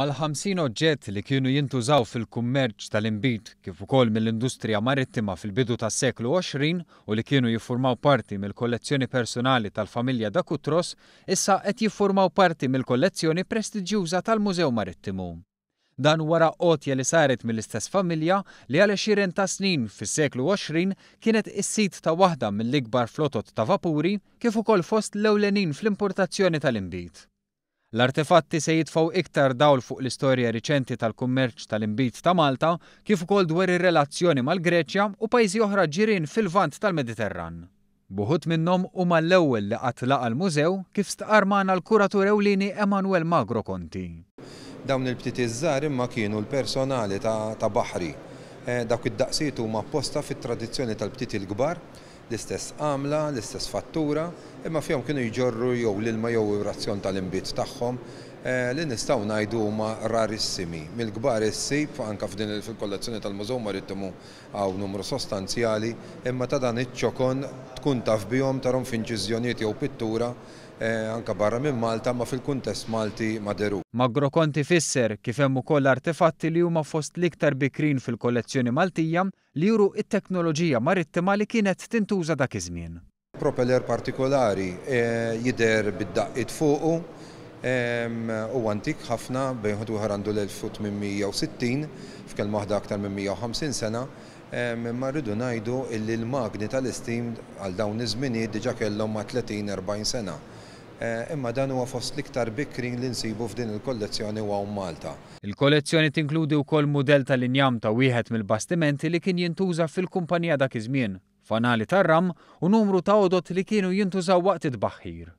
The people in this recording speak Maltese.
Mal-50 oġġett li kienu jintużaw fil-kummerċ tal-inbid kif ukoll mill-industrija marittima fil-bidu tas-seklu 20 u li kienu jiffurmaw parti mill-kollezzjoni personali tal-familja Da Cutros issa qed jiffurmaw parti mill-kollezzjoni prestiġjuża tal-Mużew Marittimu. Dan wara għotja li saret mill-istess familja li għal għexieren ta' snin fis-seklu 20 kienet is-sid ta' waħda mill-ikbar flotot ta' vapuri kif ukoll fost l-ewlenin fl-importazzjoni tal-inbid. L-artefatti se jitfgħu iktar dawl fuq l-istorja riċenti tal-kummerċ tal-inbid ta' Malta kif ukoll dwar ir-relazzjoni mal-Greċja u pajjiżi oħra ġirien fil-Lvant tal-Mediterran. B'uħud minnhom huma l-ewwel li qatt laqa' l-mużew kif stqarr magħna l-kuratur ewlieni Emanuel Magro Conti. Dawn il-btiti ż-żgħar imma kienu l-personali ta' baħri. Dawk id-daqsijiet huma apposta fit-tradizzjoni tal-btiti l-kbar L-istess għamla, l-istess fattura, imma fihom kienu jġorru jew l-ilma jew ir-razzjon tal-inbid tagħhom, li nistgħu ngħidu huma rarissimi. Mill-kbar issib, anke f'din fil-kollezzjoni tal-Mużew Marittimu hawn numru sostanzjali, imma ta' dan iċ-ċokon tkun taf bihom, tarhom f'inċiżjonijiet jew pittura, anke barra minn Malta, imma fil-kuntest Malti ma dherux. Magro Conti fisser kif hemm ukoll artefatti li huma fost l-iktar bikrin fil-kollezzjoni Maltija li juru t-teknoloġija marittima li kienet tintuża dak iż-żmien. Propeller partikolari jidher bid-daqqiet fuqu. Huwa antik ħafna, bejn wieħed u ieħor għandu l-1860, f'kelma waħda aktar minn 150 sena. Imma rridu ngħidu illi l-magni tal-istim għal dawn iż-żminijiet diġà kellhom ma' 30, 40 sena. Imma dan huwa fost l-iktar bikrin li nsibu f'din il-kollezzjoni u hawn Malta. Il-kollezzjoni tinkludi wkoll mudell tal-injam ta' wieħed mill-bastimenti li kien jintuża fil-kumpanija dak iż-żmien, fanali tar-ram u numru ta' għodod li kienu jintużaw waqt it-tbaħħir.